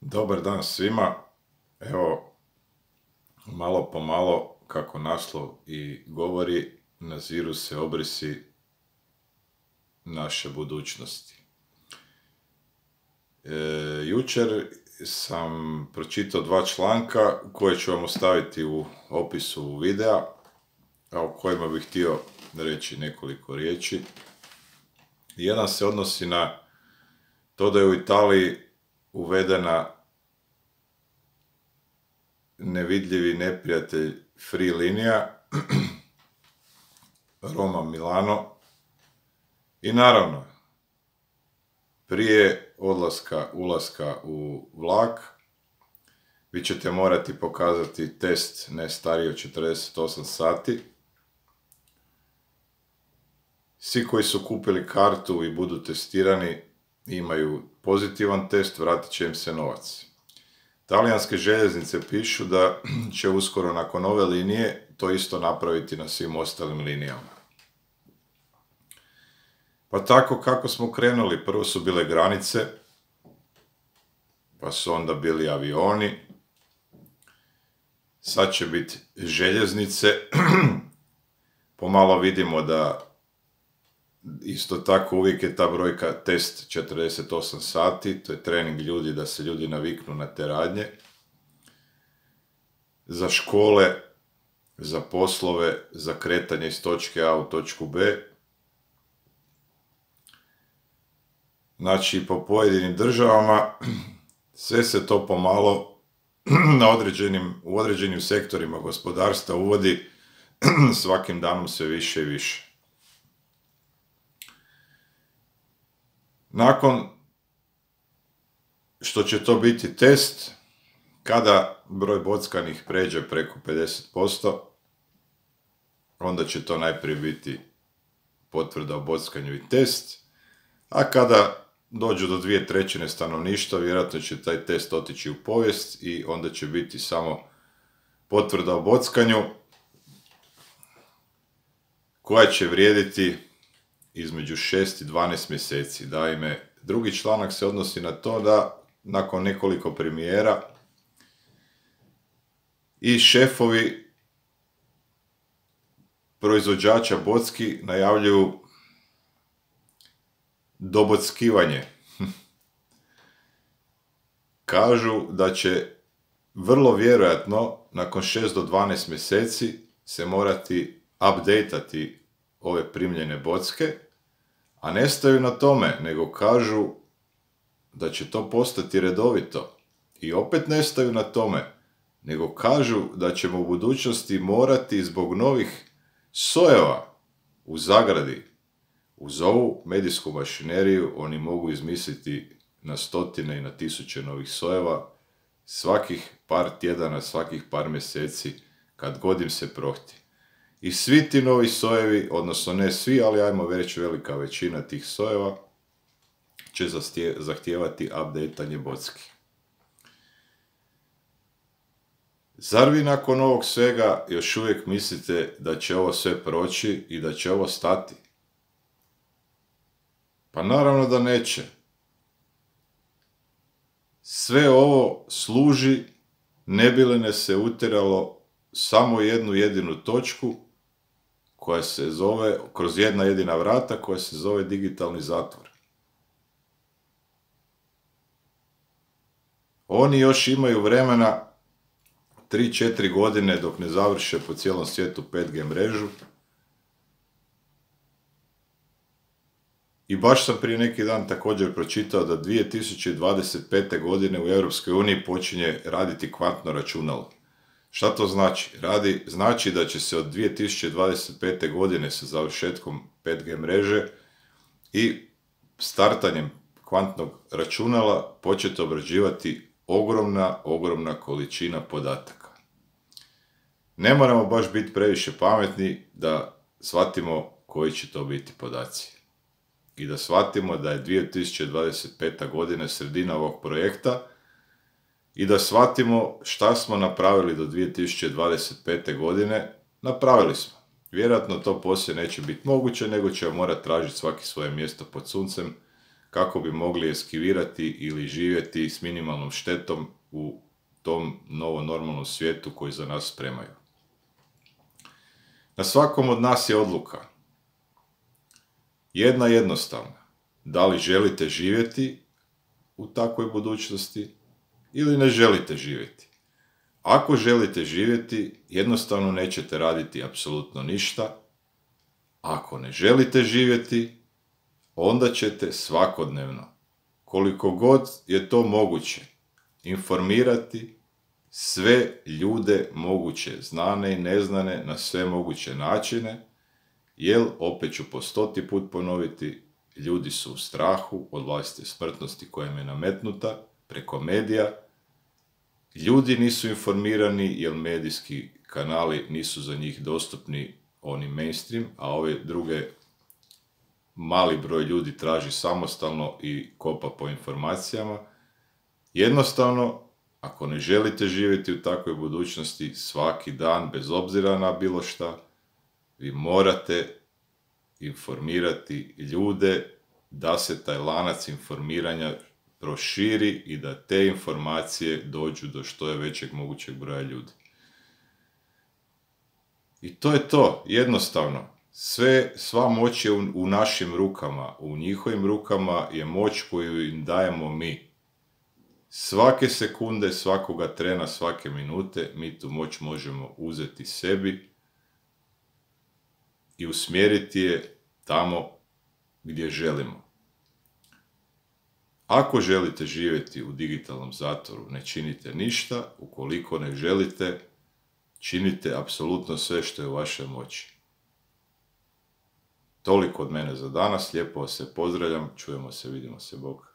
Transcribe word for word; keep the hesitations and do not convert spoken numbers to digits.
Dobar dan svima. Evo, malo po malo, kako naslov i govori, naziru se obrisi naše budućnosti. E, jučer sam pročitao dva članka koje ću vam ostaviti u opisu videa, a o kojima bih htio reći nekoliko riječi. Jedan se odnosi na to da je u Italiji uvedena nevidljivi neprijatelj free linija Roma Milano i naravno prije odlaska, ulaska u vlak vi ćete morati pokazati test ne stariji od četrdeset osam sati. Svi koji su kupili kartu i budu testirani imaju pozitivan test, vratit će im se novac. Talijanske željeznice pišu da će uskoro nakon ove linije to isto napraviti na svim ostalim linijama. Pa tako kako smo krenuli, prvo su bile granice, pa su onda bili avioni, sad će biti željeznice, pomalo vidimo da isto tako uvijek je ta brojka test četrdeset osam sati, to je trening ljudi da se ljudi naviknu na te radnje. Za škole, za poslove, za kretanje iz točke A u točku B. Znači, po pojedinim državama sve se to pomalo na određenim, u određenim sektorima gospodarstva uvodi svakim danom sve više i više. Nakon što će to biti test, kada broj bockanih pređe preko pedeset posto, onda će to najprije biti potvrda o bockanju i test, a kada dođu do dvije trećine stanovništva, vjerojatno će taj test otići u povijest i onda će biti samo potvrda o bockanju, koja će vrijediti između šest i dvanaest mjeseci. Naime, drugi članak se odnosi na to da nakon nekoliko premijera i šefovi proizvođača bocki najavljuju dobockivanje. Kažu da će vrlo vjerojatno nakon šest do dvanaest mjeseci se morati updateati ove primljene bocke, a ne staju na tome, nego kažu da će to postati redovito. I opet ne staju na tome, nego kažu da ćemo u budućnosti morati zbog novih sojeva u zagradi. Uz ovu medijsku mašineriju oni mogu izmisliti na stotine i na tisuće novih sojeva svakih par tjedana, svakih par mjeseci, kad god im se prohti. I svi ti novi sojevi, odnosno ne svi, ali ajmo reći velika većina tih sojeva, će zahtijevati updateanje bocki. Zar vi nakon ovog svega još uvijek mislite da će ovo sve proći i da će ovo stati? Pa naravno da neće. Sve ovo služi ne bi li ne se utjeralo samo jednu jedinu točku koja se zove, kroz jedna jedina vrata, koja se zove digitalni zatvor. Oni još imaju vremena tri četiri godine dok ne završe po cijelom svijetu pet G mrežu. I baš sam prije neki dan također pročitao da dvije tisuće dvadeset pete. godine u Europskoj uniji počinje raditi kvantno računalo. Šta to znači? Radi, znači da će se od dvije tisuće dvadeset pete. godine sa završetkom pet G mreže i startanjem kvantnog računala početi obrađivati ogromna, ogromna količina podataka. Ne moramo baš biti previše pametni da shvatimo koji će to biti podaci. I da shvatimo da je dvije tisuće dvadeset peta. godina sredina ovog projekta i da shvatimo šta smo napravili do dvije tisuće dvadeset pete. godine. Napravili smo. Vjerojatno to poslije neće biti moguće, nego ćemo morati tražiti svaki svoje mjesto pod suncem kako bi mogli eskivirati ili živjeti s minimalnom štetom u tom novo normalnom svijetu koji za nas spremaju. Na svakom od nas je odluka. Jedna jednostavna. Da li želite živjeti u takvoj budućnosti ili ne želite živjeti. Ako želite živjeti, jednostavno nećete raditi apsolutno ništa. Ako ne želite živjeti, onda ćete svakodnevno, koliko god je to moguće, informirati sve ljude moguće, znane i neznane, na sve moguće načine, jer, opet ću po stoti put ponoviti, ljudi su u strahu od vlastite smrtnosti koja im je nametnuta preko medija. Ljudi nisu informirani jer medijski kanali nisu za njih dostupni, oni mainstream, a ove druge mali broj ljudi traži samostalno i kopa po informacijama. Jednostavno, ako ne želite živjeti u takvoj budućnosti svaki dan, bez obzira na bilo šta, vi morate informirati ljude da se taj lanac informiranja proširi i da te informacije dođu do što je većeg mogućeg broja ljudi. I to je to, jednostavno. Sve, sva moć je u, u našim rukama, u njihovim rukama je moć koju im dajemo mi. Svake sekunde, svakoga trena, svake minute mi tu moć možemo uzeti sebi i usmjeriti je tamo gdje želimo. Ako želite živjeti u digitalnom zatvoru, ne činite ništa. Ukoliko ne želite, činite apsolutno sve što je u vašoj moći. Toliko od mene za danas, lijepo vas se pozdravljam, čujemo se, vidimo se, Bog.